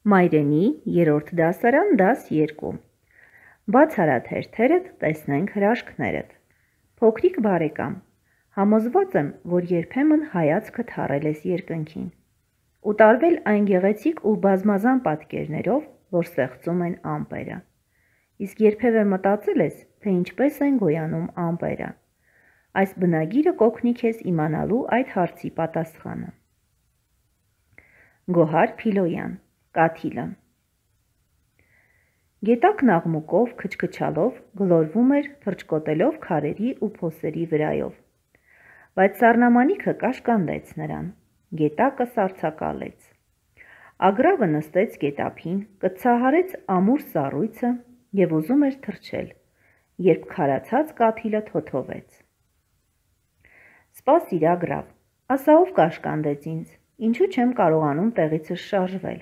Մայրենի 3-րդ դասարան դաս 2 Բաց արա թերթերդ, տեսնենք հրաշքներդ։ Փոքրիկ բարեկամ, համոզված եմ, որ երբեմն հայացքդ հառել ես երկնքին ու տարվել այն գեղեցիկ ու բազմազան պատկերներով, որ ստեղծում են ամպերը։ Իսկ երբևէ մտածել ես, թե ինչպես են գոյանում ամպերը։ Այս բնագիրը կօգնի քեզ իմանալու այդ հարցի պատասխանը։ Գոհար Փիլոյան, Կաթիլը։ Գետակն աղմուկով, քչքչալով գլորվում էր թռչկոտելով քարերի ու փոսերի վրայով, բայց սառնամանիքը կաշկանդեց նրան, գետակը սառցակալեց։ Ագռավը նստեց գետափին, կծահարեց ամուր սառույցը և ուզում էր թռչել, երբ քարացած կաթիլը թոթովեց։ Սպասիր Ագռավ, ասա ով կաշկանդեց ինձ, ինչու չեմ կարողանում տեղիցս շարժվել։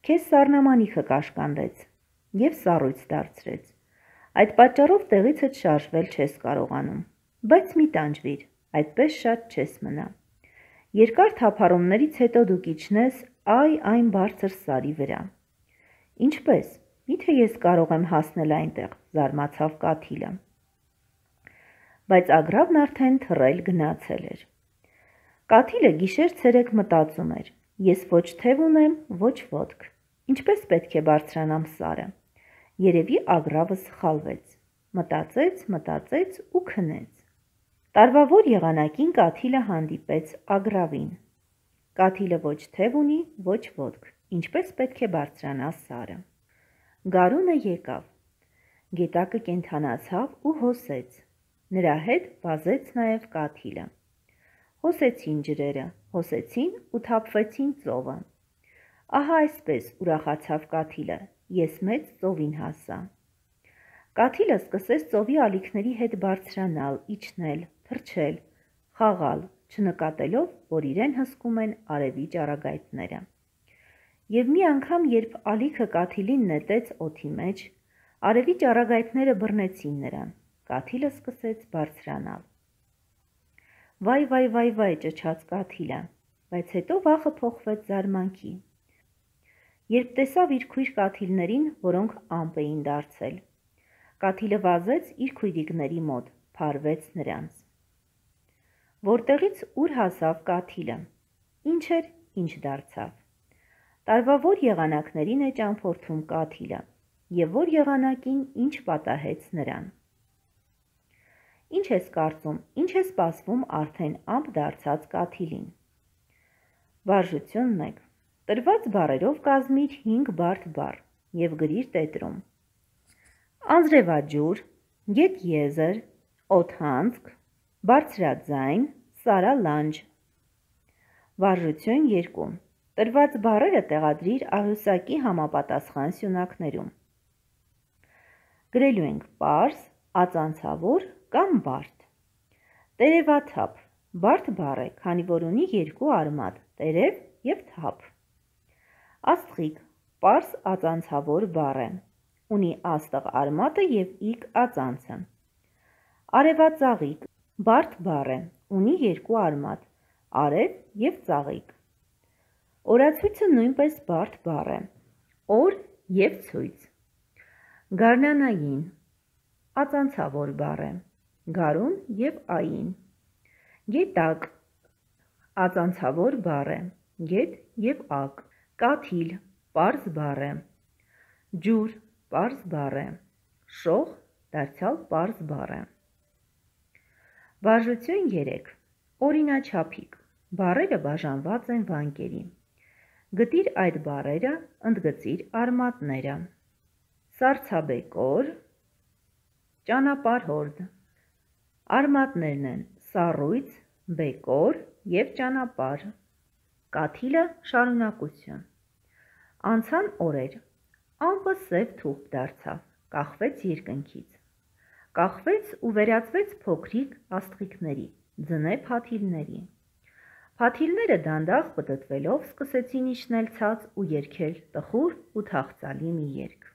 Քեզ սառնամանիքը կաշկանդեց և սառույց դարձրեց, այդ պատճառով տեղիցդ շարժվել չես կարողանում, բայց մի տանջվիր, այդպես շատ չես մնա։ Երկար թափառումներից հետո դու կիջնես այն բարձր սարի վրա։ Ինչպես, միթե ես կարող եմ հասնել այնտեղ, զարմացավ կաթիլը։ Բայց Ագռավն արդեն թռել գնացել էր։ Կաթիլը գիշեր-ցերեկ մտածում էր. ես ոչ թև ունեմ, ոչ ոտք, ինչպես պետք է բարձրանամ սարը։ Երևի Ագռավը սխալվեց, մտածեց ու քնեց։ Տարվա որ եղանակին կաթիլը հանդիպեց Ագռավին։ Կաթիլը ոչ թև ունի, ոչ ոտք, ինչպես պետք է բարձրանա սարը։ Գարունը եկավ, գետակը կենդանացավ ու հոսեց, նրա հետ վազեց նաև կաթիլը։ Հոսեցին ջրերը, հոսեցին ու թափվեցին ծովը։ Ահա այսպես ուրախացավ կաթիլը, ես մեծ ծովին հասա։ Կաթիլը սկսեց ծովի ալիքների հետ բարձրանալ, իջնել, թռչել, խաղալ, չնկատելով, որ իրեն հսկում են արևի ճառագայթները։ Եվ մի անգամ, երբ ալիքը կաթիլին նետեց օդի մեջ, արևի ճառագայթները բռնեցին նրան, կաթիլը սկսեց բարձրանալ։ Վայ, ճչաց կաթիլը, բայց հետո վախը փոխվեց զարմանքի, երբ տեսավ իր քույր կաթիլներին, որոնք ամպ էին դարձել։ Կաթիլը վազեց իր քույրիկների մոտ, փարվեց նրանց։ Որտեղից ուր հասավ կաթիլը, ինչ էր, ինչ դարձավ։ Տարվա որ եղանակներին է ճամփորդում կաթիլը, և որ եղանակին ինչ պատահեց նրան։ Ինչ ես կարծում, ինչ է սպասվում արդեն ամպ դարձած կաթիլին։ Վարժություն 1. Տրված բառերով կազմիր 5 բարդ բառ և գրիր տետրում։ Անձրևաջուր, գետեզր, օդանցք, բարձրաձայն, սարալանջ։ Վարժություն 2. Տրված բառերը տեղադրիր աղյուսակի համապատասխան սյունակներում։ Գրելու ենք պարզ, ածանցավոր կամ բարդ։ Տերևաթափ, բարդ բառ է, քանի որ ունի 2 արմատ՝ տերև և թափ։ Աստղիկ, պարզ ածանցավոր բառ է, ունի աստղ արմատը և իգ ածանցը։ Արևածաղիկ, բարդ բառ է, ունի 2 արմատ՝ արև և ծաղիկ։ Օրացույցը նույնպես բարդ բառ է, օր և ցույց։ Գարնանային, ածանցավոր բառ է, գարուն և ային։ Գետակ, ածանցավոր բառ է, գետ և ակ։ Կաթիլ, պարզ բառ է, ջուր, պարզ բառ է, շող, դարձյալ պարզ բառ է։ Վարժություն 3. Օրինաչափիկ, բառերը բաժանված են վանկերի։ Գտիր այդ բառերը, ընդգծիր արմատները։ Սառցաբեկոր, ճանապարհորդ։ Արմատներն են սառույց, բեկոր և ճանապարհ։ Կաթիլը շարունակություն։ Անցան օրեր, ամպը սև թուղթ դարձավ, կախվեց երկնքից։ Կախվեց ու վերածվեց փոքրիկ աստղիկների, ձնե փաթիլների։ Փաթիլները դանդաղ պտտվելով սկսեցին իջնել ցած ու երգել տխուր ու թախծալի մի երգ։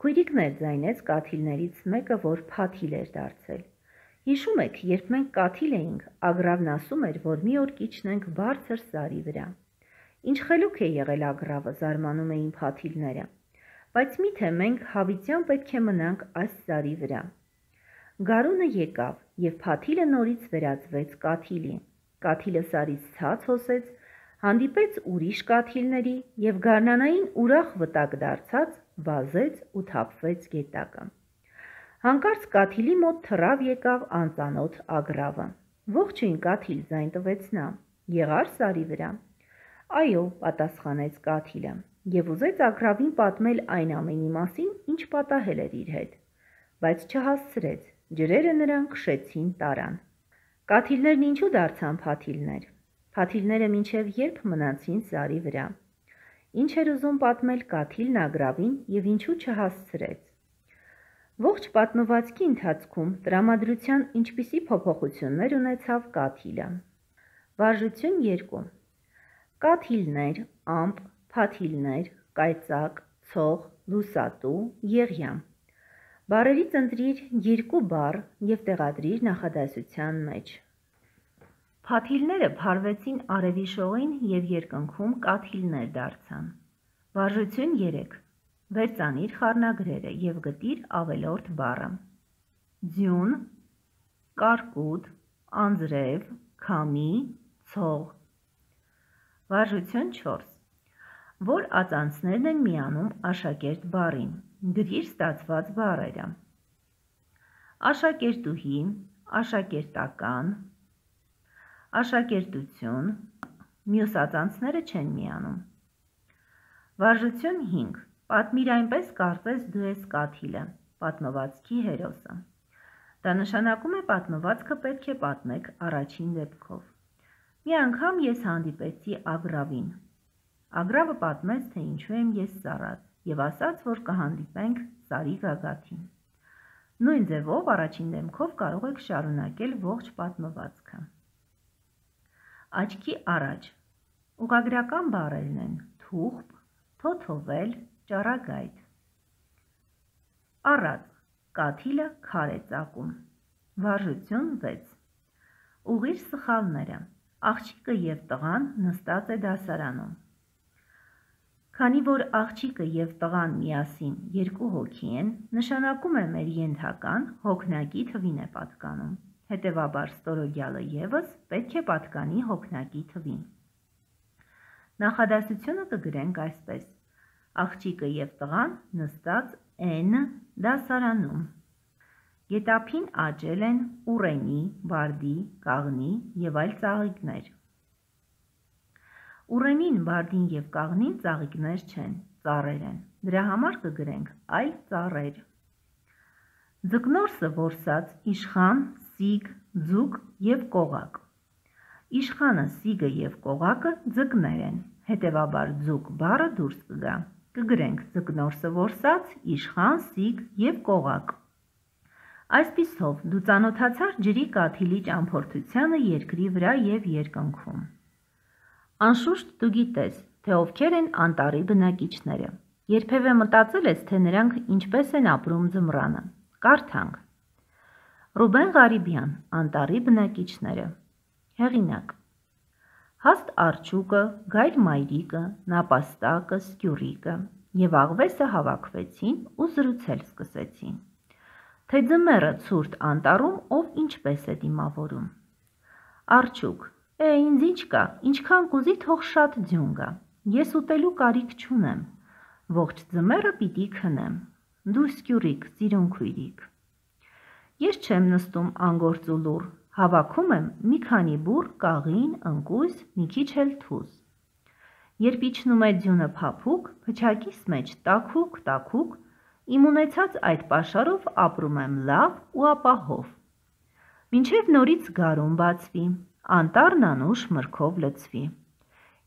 Քույրիկներ, ձայնեց կաթիլներից մեկը, որ փաթիլ էր դարձել։ Հիշում եք, երբ մենք կաթիլ էինք, Ագռավն ասում էր, որ մի օր կիջնենք բարձր սարի վրա։ Ինչ խելոք է եղել ագռավը, զարմանում էին փաթիլները, բայց միթե մենք հավիտյան պետք է մնանք այս սարի վրա։ Գարունը եկավ, և փաթիլը նորից վերածվեց կաթիլի։ Կաթիլը սարից ցած հոսեց, հանդիպեց ուրիշ կաթիլների և գարնանային ուրախ վտակ դարձած վազեց ու թափվեց գետակը։ Հանկարծ կաթիլի մոտ թռավ եկավ անծանոթ ագռավը։ Ողջույն կաթիլ, ձայն տվեց նա, եղա՞ր սարի վրա։ Այո, պատասխանեց կաթիլը, և ուզեց ագռավին պատմել այն ամենի մասին, ինչ պատահել էր իր հետ, բայց չհասցրեց, ջրերը նրան քշեցին տարան։ Կաթիլներն ինչու դարձան փաթիլներ։ Փաթիլները մինչև երբ մնացին սարի վրա։ Ինչ էր ուզում պատմել կաթիլն ագռավին և ինչու չհասցրեց։ Ողջ պատմվածքի ընթացքում տրամադրության ինչպիսի փոփոխություններ ունեցավ կաթիլը։ Վարժություն 2. Կաթիլներ, ամպ, փաթիլներ, կայծակ, ցող, լուսատու, եղյամ։ Բառերից ընտրիր 2 բառ և տեղադրիր նախադասության մեջ։ Փաթիլները փարվեցին արևի շողին և երկնքում կաթիլներ դարձան։ Վարժություն 3. Վերծանիր խառնագրերը և գտիր ավելորդ բառը։ Ձյուն, կարկուտ, անձրև, քամի, ցող։ Վարժություն 4. Որ ածանցներն են միանում աշակերտ բառին։ Գրիր ստացված բառերը։ Աշակերտուհի, աշակերտական, աշակերտություն, մյուս ածանցները չեն միանում։ Վարժություն 5. Պատմիր այնպես, կարծես դու ես կաթիլը, պատմվածքի հերոսը։ Դա նշանակում է պատմվածքը պետք է պատմեք առաջին դեպքով։ Մի անգամ ես հանդիպեցի ագռավին։ Ագռավը պատմեց, թե ինչու եմ ես սառած, և ասաց, որ կհանդիպենք սարի գագաթին։ Նույն ձևով առաջին դեմքով կարող եք շարունակել ողջ պատմվածքը։ Աչքի առաջ։ Ուղղագրական բառերն են թուղթ, թոթովել, ճառագայթ։ Առած, կաթիլը քար է ծակում։ Վարժություն 6. Ուղղիր սխալները։ Աղջիկը և տղան նստած է դասարանում։ Քանի որ աղջիկը և տղան միասին 2 հոգի են, նշանակում է մեր ենթական հոգնակի թվին է պատկանում, հետևաբար ստորոգյալը ևս պետք է պատկանի հոգնակի թվին։ Նախադասությունը կգրենք այսպես. Աղջիկը և տղան նստած են դասարանում։ Գետափին աճել են ուռենի, բարդի, կաղնի և այլ ծաղիկներ։ Ուռենին, բարդին և կաղնին ծաղիկներ չեն, ծառեր են, դրա համար կգրենք այլ ծառեր։ Ձկնորսը որսած, իշխան, սիգ, ձուկ և կողակ։ Իշխանը, սիգը և կողակը ձկներ են, հետևաբար ձուկ բառը դուրս կգա, կգրենք ձկնորսը որսած, իշխան, սիգ և կողակ։ Այսպիսով, դու ծանոթացար ջրի կաթիլի ճամփորդությանը երկրի վրա և երկնքում։ Անշուշտ դու գիտես, թե ովքեր են անտառի բնակիչները։ Երբևէ մտածել ես, թե նրանք ինչպես են ապրում ձմռանը։ Կարդանք։ Ռուբեն Ղարիբյան, Անտառի բնակիչները։ Հեղինակ։ Հաստ արջուկը, գայլ մայրիկը, նապաստակը, սկյուռիկը և աղվեսը հավաքվեցին ու զրուցել սկսեցին, թե ձմեռը ցուրտ անտառում ով ինչպես է դիմավորում։ Արջուկ. Ինձ ինչ կա, ինչքան կուզի թող շատ ձյուն գա, ես ուտելու կարիք չունեմ, ողջ ձմեռը պիտի քնեմ, դու սկյուռիկ, սիրուն քույրիկ։ Ես չեմ նստում անգործ ու լուռ, հավաքում եմ մի քանի բուռ, կաղին, ընկույզ, մի քիչ էլ թուզ։ Երբ իջնում է ձյունը փափուկ, փչակիս մեջ տաքուկ, իմ ունեցած այդ պաշարով ապրում եմ լավ ու ապահով։ Մինչև նորից գարուն բացվի, անտառն անուշ մրգով լցվի։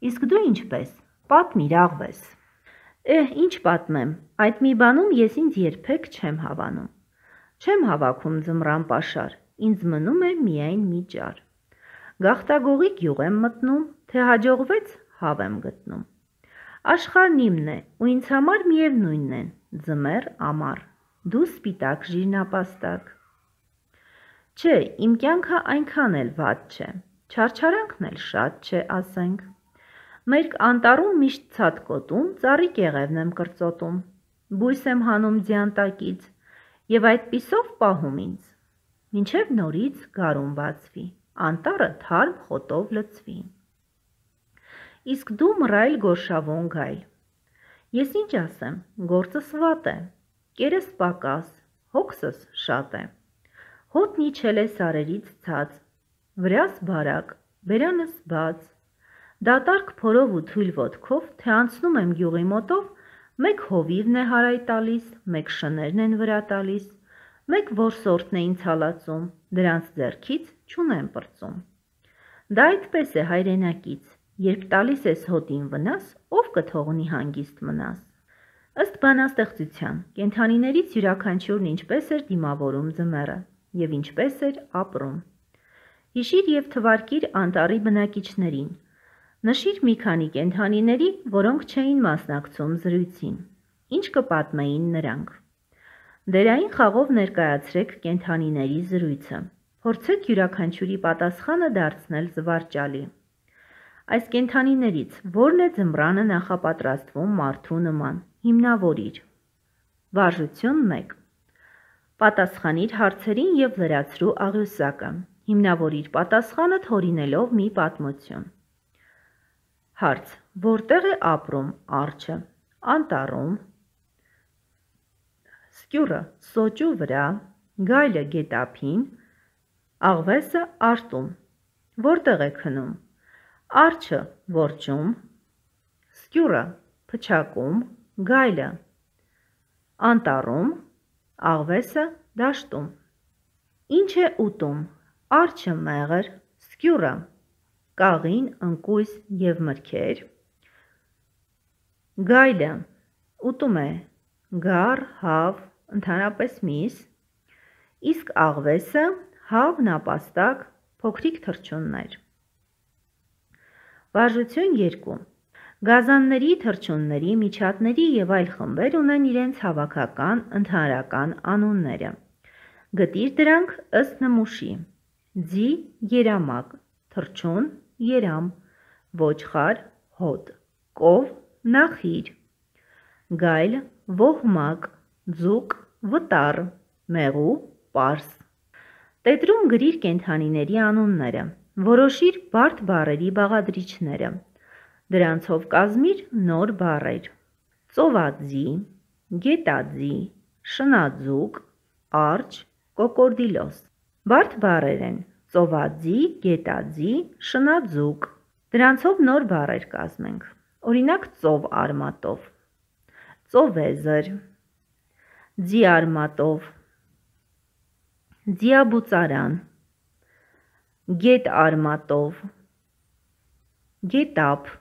Իսկ դու ինչպես, պատմիր աղվես։ Ինչ պատմեմ, այդ մի բանում ես ինձ երբեք չեմ հավանում։ Չեմ հավաքում ձմռան պաշար, ինձ մնում է միայն մի ճար։ Գաղտագողի գյուղ եմ մտնում, թե հաջողվեց հավ եմ գտնում։ Աշխարհն իմն է, ու ինձ համար միևնույնն են, ձմեռ, ամառ, դու սպիտակ ժիրնապաստակ։ Չէ, իմ կյանքը այնքան էլ վատ չէ, չարչարանքն էլ շատ չէ, ասենք։ Մերկ անտառում միշտ ցատկոտում, ծառի կեղևն եմ կրծոտում, բույս եմ հանում ձիանտակից, և այդպիսով պահում ինձ, մինչև նորից գարուն բացվի, անտառը թարմ խոտով լցվի։ Իսկ դու մռայլ գորշավուն գայլ, ես ինչ ասեմ, գործս վատ է, կերս պակաս, հոգսս շատ է, հոտն իջել է սարերից ցած, վրաս բարակ, բերանս բաց, դատարկ փորով ու թույլ ոտքով, թե անցնում եմ գյուղի մոտով, մեկ հովիվն է հարայ տալիս, մեկ շներն են վրա տալիս, մեկ որսորդն է ինձ հալածում, դրանց ձեռքից չունեմ պրծում։ Դա այդպես է հայրենակից, երբ տալիս ես հոտին վնաս, ով կթողնի հանգիստ մնաս։ Ըստ բանաստեղծության, կենդանիներից յուրաքանչյուրն ինչպես էր դիմավորում ձմեռը և ինչպես էր ապրում։ Հիշիր և թվարկիր անտառի բնակիչներին, նշիր մի քանի կենդանիների, որոնք չէին մասնակցում զրույցին, ինչ կպատմեին նրանք։ Դերային խաղով ներկայացրեք կենդանիների զրույցը, փորձեք յուրաքանչյուրի պատասխանը դարձնել զվարճալի։ Այս կենդանիներից որն է ձմռանը նախապատրաստվում մարդու նման, հիմնավորիր։ Վարժություն 1. Պատասխանիր հարցերին և լրացրու աղյուսակը, հիմնավորիր պատասխանդ հորինելով մի պատմություն։ Հարց. Որտեղ է ապրում արջը, անտառում, սկյուրը սոճու վրա, գայլը գետափին, աղվեսը արտում, որտեղ է քնում, արջը որջում, սկյուրը փչակում, գայլը անտառում, աղվեսը դաշտում։ Ինչ է ուտում, արջը մեղր, սկյուրը կաղին, ընկույզ և մրգեր, գայլը ուտում է գառ, հավ, ընդհանրապես միս, իսկ աղվեսը հավ, նապաստակ, փոքրիկ թռչուններ։ Վարժություն 2. Գազանների, թռչունների, միջատների և այլ խմբեր ունեն իրենց հավաքական, ընդհանրական անունները։ Գտիր դրանք ըստ նմուշի. ձի, երամակ, թռչուն, երամ, ոչխար, հոտ, կով, նախիր, գայլ, ոհմակ, ձուկ, վտառ, մեղու, պարս։ Տետրում գրիր կենդանիների անունները, որոշիր բարդ բառերի բաղադրիչները, դրանցով կազմիր նոր բառեր. ծովաձի, գետաձի, շնաձուկ, արջ, կոկորդիլոս։ Բարդ բառեր են ծովաձի, գետաձի, շնաձուկ, դրանցով նոր բառեր կազմենք, օրինակ ծով արմատով, ծովեզր, ձի արմատով, ձիաբուծարան, գետ արմատով, գետափ,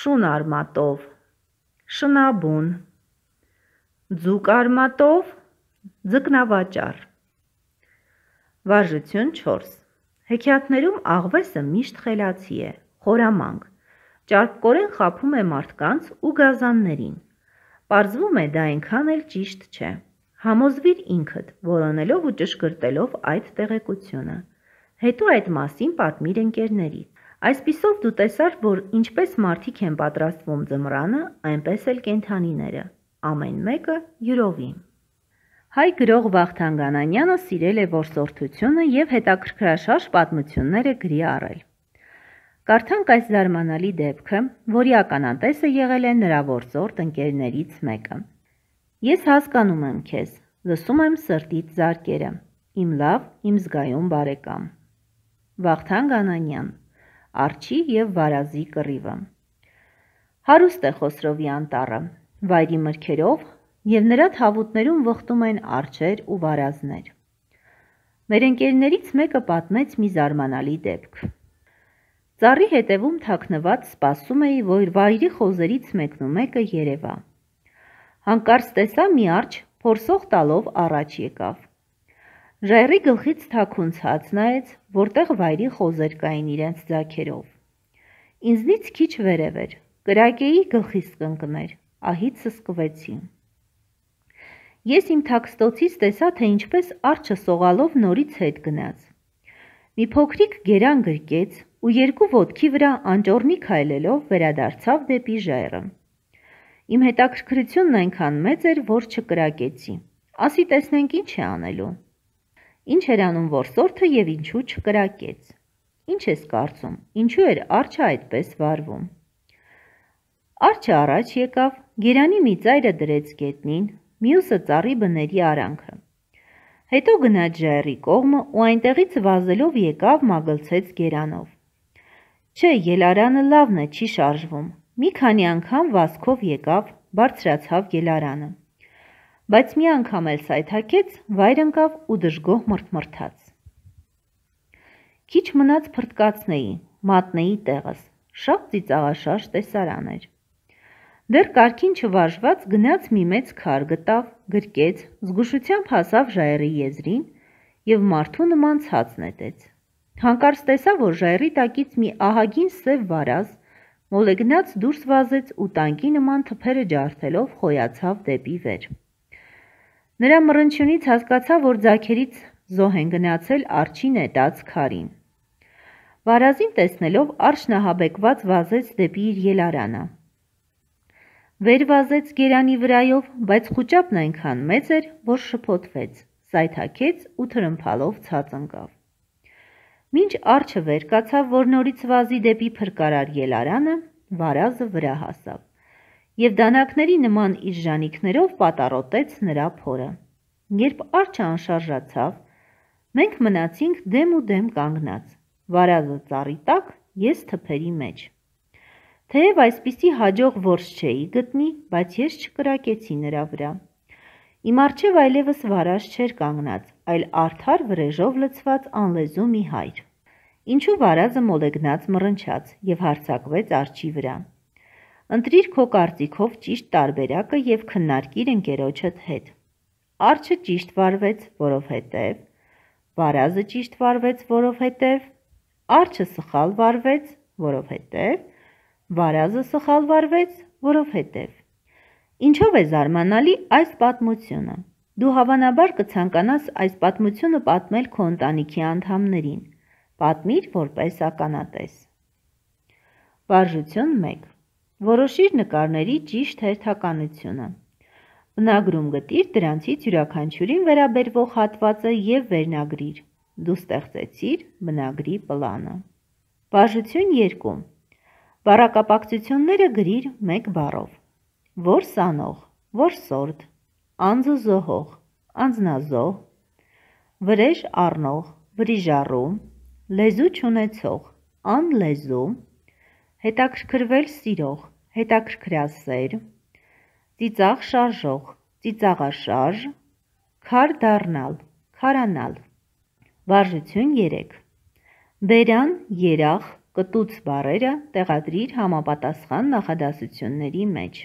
շուն արմատով, շնաբուն, ձուկ արմատով, ձկնավաճառ։ Վարժություն 4. Հեքիաթներում աղվեսը միշտ խելացի է, խորամանկ, ճարպկորեն խաբում է մարդկանց ու գազաններին։ Պարզվում է դա այնքան էլ ճիշտ չէ։ Համոզվիր ինքդ, որոնելով ու ճշգրտելով այդ տեղեկությունը։ Հետո այդ մասին պատմիր ընկերներից։ Այսպիսով դու տեսար, որ ինչպես մարդիկ են պատրաստվում ձմռանը, այնպես էլ կենդանիները, ամեն մեկը յուրովի։ Հայ գրող Վախթանգ Անանյանը սիրել է որսորդությունը և հետաքրքրաշարժ պատմություններ է գրի առել։ Կարդանք այս զարմանալի դեպքը, որի ականատեսը եղել է նրա որսորդ ընկերներից մեկը։ Ես հասկանում եմ քեզ, լսում եմ սրտիդ զարկերը, իմ լավ, իմ զգայուն բարեկամ։ Վախթանգ Անանյան, Արջի և վարազի կռիվը։ Հարուստ է Խոսրովի անտառը, վայրի մրգերով, և նրա թավուտներում վխտում են արջեր ու վարազներ։ Մեր ընկերներից մեկը պատմեց մի զարմանալի դեպք։ Ծառի հետևում թաքնված սպասում էի, որ վայրի խոզերից մեկնումեկը երևա։ Հանկարծ տեսա մի արջ փորսող տալով առաջ եկավ։ Ժայռի գլխից թաքունցած նայեց, որտեղ վայրի խոզեր կային իրենց ձագերով։ Ինձնից քիչ վերև էր, կրակեի գլխիս կընկներ, ահից սսկվեցի։ Ես իմ թաքստոցից տեսա, թե ինչպես արջը սողալով նորից հետ գնաց։ Մի փոքրիկ գերան գրկեց, ու երկու ոտքի վրա անճոռնի քայլելով վերադարձավ դեպի ժայռը։ Իմ հետաքրքրությունն այնքան մեծ էր, որ չկրակեցի։ Ասի տեսնենք ինչ է անելու։ Ինչ էր անում որսորդը և ինչու չկրակեց։ Ինչ ես կարծում, ինչու էր արջը այդպես վարվում։ Արջը առաջ եկավ, գերանի մի ծայրը դրեց գետնին, մյուսը ծառի բների արանքը։ Հետո գնաց ժայռի կողմը ու այնտեղից վազելով եկավ մագլցեց գերանով։ Չէ, ելարանը լավն է, չի շարժվում։ Մի քանի անգամ վազքով եկավ, բարձրացավ ելարանը։ Բայց մի անգամ էլ սայթաքեց, վայր ընկավ ու դժգոհ մռթմռթաց։ Քիչ մնաց փրտկացնեի, մատնեի տեղս, շատ ծիծաղաշարժ տեսարան էր։ Դեռ կարգին չվարժված գնաց մի մեծ քար գտավ, գրկեց, զգուշությամբ հասավ ժայռի եզրին և մարդու նման ցած նետեց։ Հանկարծ տեսավ, որ ժայռի տակից մի ահագին սև վարազ մոլեգնած դուրս վազեց ու տանկի նման թփերը ջարդելով խոյացավ դեպի վեր։ Նրա մռնչյունից հասկացավ, որ ձագերից զոհ են գնացել արջի նետած քարին։ Վարազին տեսնելով արջն ահաբեկված վազեց դեպի իր ելարանը։ Վեր վազեց գերանի վրայով, բայց խուճապն այնքան մեծ էր, որ շփոթվեց, սայթաքեց ու թրմփալով ցած ընկավ։ Մինչ արջը վեր կացավ, որ նորից վազի դեպի փրկարար ելարանը, վարազը վրա հասավ և դանակների նման իր ժանիքներով պատառոտեց նրա փորը։ Երբ արջը անշարժացավ, մենք մնացինք դեմ ու դեմ կանգնած, վարազը ծառի տակ, ես թփերի մեջ։ Թեև այսպիսի հաջող որս չէի գտնի, բայց ես չկրակեցի նրա վրա։ Իմ առջև այլևս վարազ չէր կանգնած, այլ արդար վրեժով լցված անլեզու մի հայր։ Ինչու վարազը մոլեգնած մռնչաց և հարձակվեց արջի վրա։ Ընտրիր քո կարծիքով ճիշտ տարբերակը և քննարկիր ընկերոջդ հետ։ Արջը ճիշտ վարվեց, որովհետև, վարազը ճիշտ վարվեց, որովհետև, արջը սխալ վարվեց, որովհետև, վարազը սխալ վարվեց, որովհետև։ Ինչով է զարմանալի այս պատմությունը։ Դու հավանաբար կցանկանաս այս պատմությունը պատմել քո ընտանիքի անդամներին։ Պատմիր որպես ականատես։ Վարժություն 1. Որոշիր նկարների ճիշտ հերթականությունը։ Բնագրում գտիր դրանցից յուրաքանչյուրին վերաբերվող հատվածը և վերնագրիր։ Դու ստեղծեցիր բնագրի պլանը։ Վարժություն 2. Բառակապակցությունները գրիր մեկ բառով։ Որս անող, որսորդ, անձը զոհող, անձնազոհ, վրեժ առնող, վրիժառու, լեզու չունեցող, անլեզու, հետաքրքրվել սիրող, հետաքրքրասեր, ծիծաղ շարժող, ծիծաղաշարժ, քար դառնալ, քարանալ։ Վարժություն 3. Բերան, երախ, կտուց բառերը տեղադրիր համապատասխան նախադասությունների մեջ։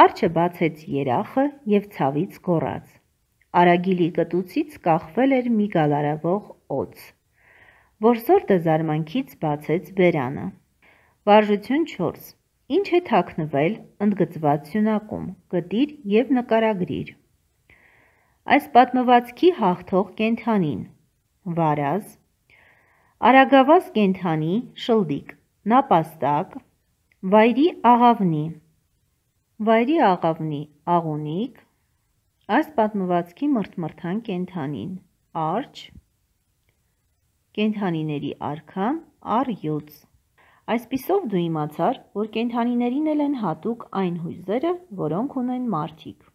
Արջը բացեց երախը և ցավից գոռաց։ Արագիլի կտուցից կախվել էր մի գալարվող օձ։ Որսորդը զարմանքից բացեց բերանը։ Վարժություն 4. Ինչ է թաքնվել ընդգծված սյունակում, գտիր և նկարագրիր։ Այս պատմվածքի հաղթող կենդանին։ Վարազ, արագավազ կենդանի, շլդիկ, նապաստակ, վայրի աղավնի։ Վայրի աղավնի, աղունիկ, այս պատմվածքի մռթմռթան կենդանին, արջ, կենդանիների արքան, առյուծ։ Այսպիսով դու իմացար, որ կենդանիներին էլ են հատուկ այն հույզերը, որոնք ունեն մարդիկ։